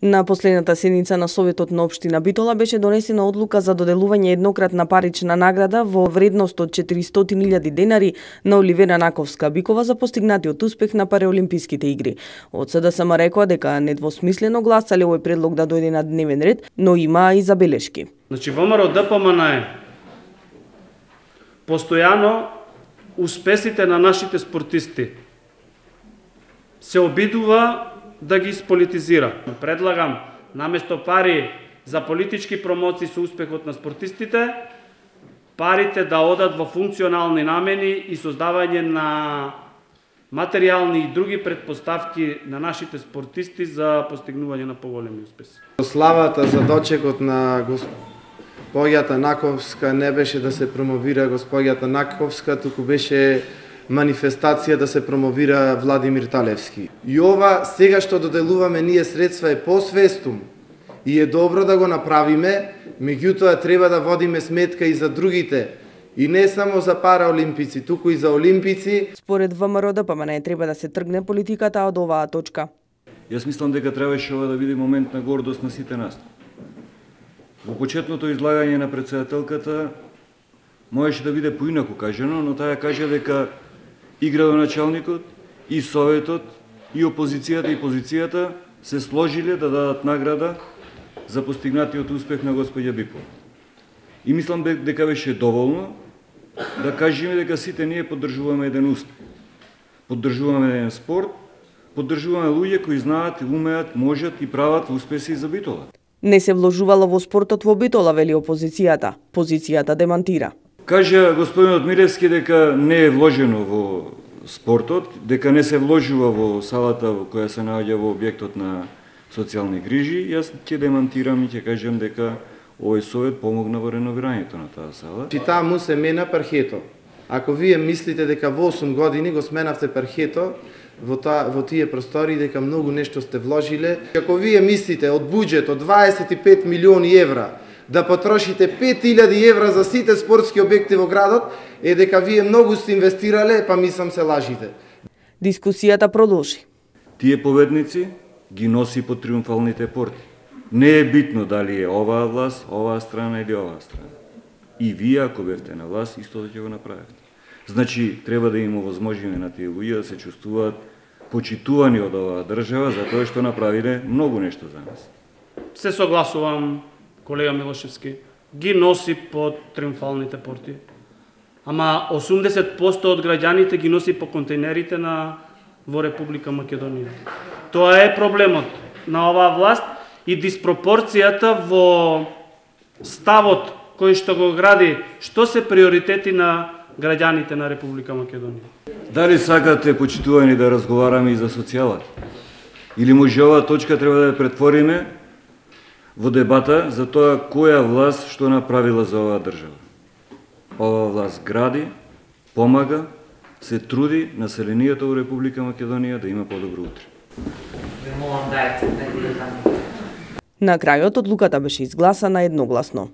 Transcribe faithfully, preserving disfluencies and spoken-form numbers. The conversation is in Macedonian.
На последната седница на Советот на општина Битола беше донесена одлука за доделување еднократна парична награда во вредност од четиристотини илјади денари на Оливера Наковска-Бикова за постигнатиот успех на Параолимписките игри. Од СДСМ рекоа дека недвосмислено гласале овој предлог да дојде на дневен ред, но има и забелешки. Значи ВМРО ДПМН е постојано успесите на нашите спортисти се обидува да ги сполитизира. Предлагам, наместо пари за политички промоции со успехот на спортистите, парите да одат во функционални намени и создавање на материјални и други предпоставки на нашите спортисти за постигнување на поголеми успеси. Славата за дочекот на госпоѓата Наковска не беше да се промовира госпоѓата Наковска, туку беше манифестација да се промовира Владимир Талевски. И ова сега што доделуваме ние средства е посвестум и е добро да го направиме, меѓутоа треба да водиме сметка и за другите, и не само за параолимпици, туку и за олимпици. Според ВМРО ДПМН треба да се тргне политиката од оваа точка. Јас мислам дека требаше ова да биде момент на гордост на сите нас. Во почетното излагање на претседателката можеше да биде поинаку кажено, но таа кажа дека и градоначалникот, и Советот, и опозицијата, и позицијата се сложиле да дадат награда за постигнатиот успех на господја Бикова. И мислам дека беше доволно да кажеме дека сите ние поддржуваме еден успех. Поддржуваме еден спорт, поддржуваме луѓе кои знаат, умеат, можат и прават успеси за Битола. Не се вложувало во спортот во Битола, вели опозицијата. Позицијата демантира. Кажа господинот Милевски дека не е вложено во спортот, дека не се вложува во салата во која се наоѓа во објектот на социјални грижи. Јас ќе демантирам и ќе кажам дека овој совет помогна во реновирањето на таа сала. Чи таа му се мена пархето. Ако вие мислите дека во осум години го сменавте пархето во, та, во тие простори, дека многу нешто сте вложиле, ако вие мислите од буџет од дваесет и пет милиони евра да потрошите пет илјади евра за сите спортски објекти во градот, е дека вие многу сте инвестирале, па мислам се лажите. Дискусијата продолжи. Тие победници ги носи по триумфалните порти. Не е битно дали е оваа власт, оваа страна или оваа страна. И вие, ако бевте на власт, истото ќе го направите. Значи, треба да има возможност на тие луѓе да се чувствуваат почитувани од оваа држава за тоа што направиле многу нешто за нас. Се согласувам, колега Милошевски, ги носи по триумфалните порти. Ама осумдесет проценти од граѓаните ги носи по контейнерите на во Република Македонија. Тоа е проблемот на оваа власт и диспропорцијата во ставот кој што го гради, што се приоритети на граѓаните на Република Македонија. Дали сакате, почитувани, да разговараме и за социјалата? Или може оваа точка треба да ја претвориме во дебата за тоа која власт што направила за оваа држава? Оваа власт гради, помага, се труди населението во Република Македонија да има подобро утре. На крајот одлуката беше изгласана едногласно.